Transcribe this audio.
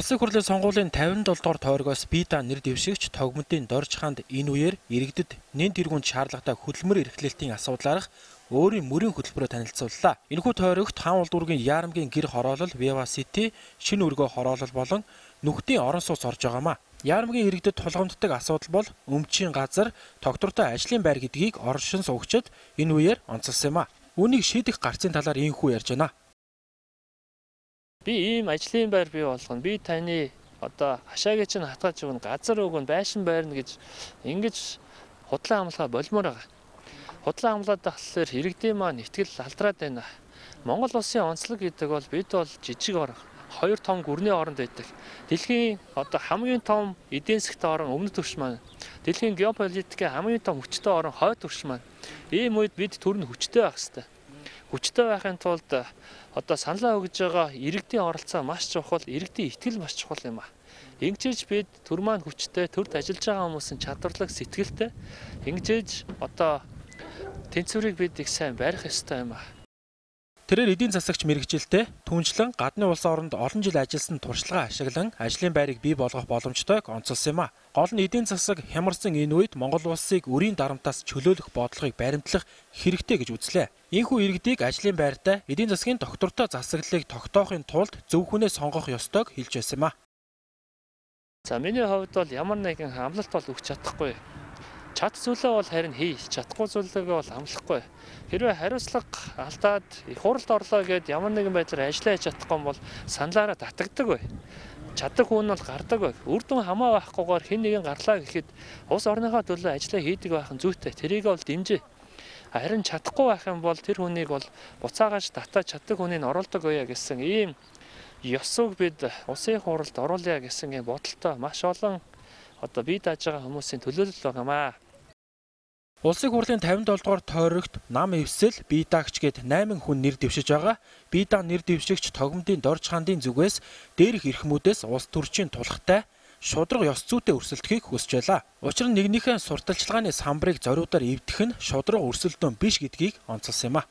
Улсын хурлын сонгуулийн 57 дугаар тойрогоос Бида нэр дэвшигч Тогмодын Дорж хаанд энэ үеэр иргэдэд нэн тэргуунд шаардлагатай хөдөлмөр эрхлэлтийн асуудлаарх өөрийн мөрийн хөтөлбөрөөр танилцууллаа. Энэхүү тойрогт хаан улдуургийн Яарамгийн гэр хороолол Viva City, шинэ өргөө хороолол болон нүхтийн орон сууц орж байгаамаа. Яарамгийн иргэдэд тулгамддаг асуудал бол өмчийн газар, тогтвортой ажлын байр гэдгийг оршин суугчид энэ үеэр онцолсон юм а. Үүнийг шийдэх гарцын талаар ийхүү ярьж байна. Би ийм ажлын байр бий болгоно. Би таны хашаагийн чинь хатгаж өгнө, газар өгнө, байшин байрна гэж ингэж худлаа амлахаа болмоор байгаа. Худлаа амлаад тахлаар иргэдийн маань итгэл алдраад байна. Монгол улсын онцлог гэдэг бол бид бол жижиг орн, хоёр том гүрний оронд байдаг. Дэлхийн хамгийн том эдийн засгийн орн өмнөд түвш маань. Дэлхийн геополитикийн хамгийн том хүчтэй орн хойд түвш маань. Ийм үед бид төрн хүчтэй байх хэрэгтэй. Хүчтэй байхын тулд саналаа өгж байгаа иргэдийн оролцоо маш чухал, иргэдийн итгэл маш чухал юм а. Ингэжээж бид төр маань хүчтэй, төрд ажиллаж байгаа хүмүүсийн чадварлаг сэтгэлтэй ингэжээж тэнцвэрийг бид их сайн барих ёстой юм а. Тэрээр эдийн засагч мэрэгжилтэй түншлэн гадны улс оронд олон жил ажилласан туршлага ашиглан ажлын байрыг бий болгох боломжтойг онцолсон юм а. Гол нь эдийн засаг хямарсан энэ үед Монгол улсыг өрийн дарамтаас чөлөөлөх бодлогыг баримтлах хэрэгтэй гэж үзлээ. Ийхүү иргэдийг ажлын байртай эдийн засгийн доктортой засаглалыг тогтоохын тулд зөв хүнээ сонгох ёстойг хэлж байсан юм а. За миний хувьд бол ямар нэгэн амлалт бол өгч чадахгүй. Чад зүйлээ бол харин хий, чадахгүй зүйлээ бол амлахгүй. Хэрвээ хариуцлага алдаад их хуралд орлоо гэд ямар нэгэн байдлаар ажиллаа хийж чадахгүй бол саналаараа татагддаг бай. Чаддаг хүн бол гардаг бай. Үр дүн хамаа байхгүйгээр хэн нэгэн гарлаа гэхэд улс орныхоо төлөө ажиллаа хийдэг байх нь зүйтэй. Тэрийг бол дэмжээ. Харин чадахгүй байх юм бол тэр хүнийг бол буцаагааж татаж чаддаг хүнийг оруулдаг байя гэсэн ийм ёсыг бид улсын хуралд оруулъя гэсэн ийм бодолтой маш олон бие дааж байгаа хүмүүсийн төлөөлөл байгаамаа. Улсын хурлын 57 дугаар тойрогт нам эвсэл Бидагч гээд 8 хүн нэр дэвшиж байгаа. Бида нэр дэвшигч Тогмодын Дорж хаандын зүгээс дээрх эрхмүүдээс улс төрчийн тулхтай шудраг ёс зүйтэй өрсөлдөхийг хүсэж байлаа. Учир нь нэгнийхээ сурталчилгааны самбарыг зориудаар эвдэх нь шудраг өрсөлдөөн биш гэдгийг онцолсон юм а.